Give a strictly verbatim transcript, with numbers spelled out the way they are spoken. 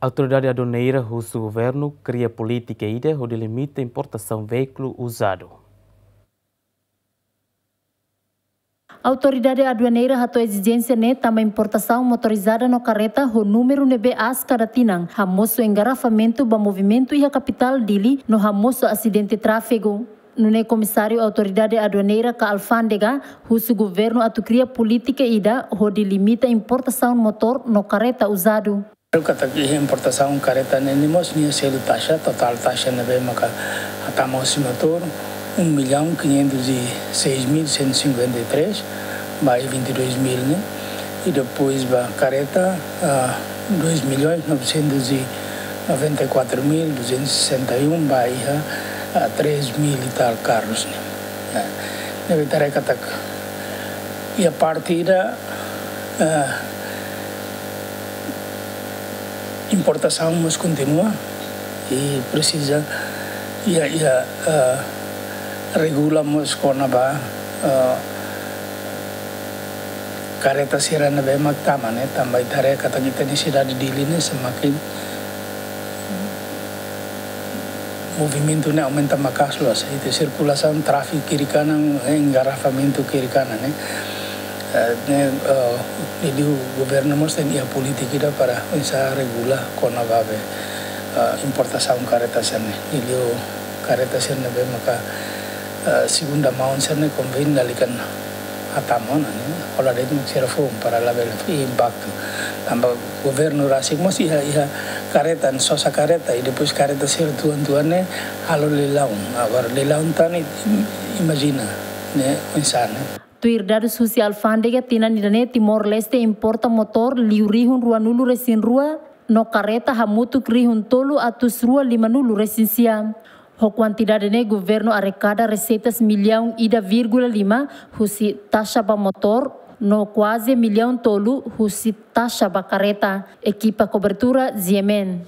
Autoridade Aduaneira husu governu kria polítika ida hodi limita importasaun veíkulu uzadu. Autoridade Aduaneira hato'o ezijénsia ne'e tanba importasaun motorizada no karreta ho númeru ne'ebé aas kada tinan hamosu engarrafamentu ba movimentu iha kapitál Dili no hamosu asidente tráfegu. Nune'e Komisáriu Autoridade Aduaneira ka Alfándega husu governu atu kria polítika ida hodi limita importasaun motór no karreta uzadu. Katak iha importasaun karreta ne'e mós nia selu taxa, totál taxa ne'ebé maka hatama hosi motór, um milhão quinhentos e seis mil cento e cinquenta e três, ba iha vinte e dois mil ne'e. E depois ba karreta, ah, dois milhões novecentos e noventa e quatro mil duzentos e sessenta e um, ba iha, ah, três mil e tal carros ne'e. Ah, ne'ebé ita haree katak iha parte ida, ah, importasaun mós kontinua i presiza iha, iha, ah, regula mós kona-ba, ah, karreta sira ne'ebé mak tama ne'e, tanba ita haree katak ita-nia sidade Dili ne'e semakin movimentu ne'e aumenta maka'as loos. Ita sirkulasaun tráfegu kiri kanan, eh, engarrafamentu kiri kanan ne'e. Eh, ne'e, eh, liuliu governu mós tenke iha polítika ida para oinsá regula kona-ba be, eh, importasaun karreta sira ne'e. Liuliu karreta sira ne'ebé maka, eh, segunda mão sira ne'e konvén lalika hatama ona ne'e. Hola de'it mak sira foun para labele iha impaktu. Tanba governu rasik mós iha, iha karreta, sosa karreta, i depois karreta sira tuan-tuan ne'e halo leilaun. Agora leilaun tan ne'e, im-, imajina ne'e oinsá ne'e. Tuir dadus husi Alfándega, tinan ida-ne'e Timor-Leste importa motór liu rihun ruanulu-resin-rua no karreta hamutuk rihun tolu atus rua limanulu-resin-sia. Ho kuantidade ne'e governu arekada reseitas millaun ida vírgula lima husi taxa ba motór no kuaze millaun tolu husi taxa ba karreta. Ekipa kobertura, G M N.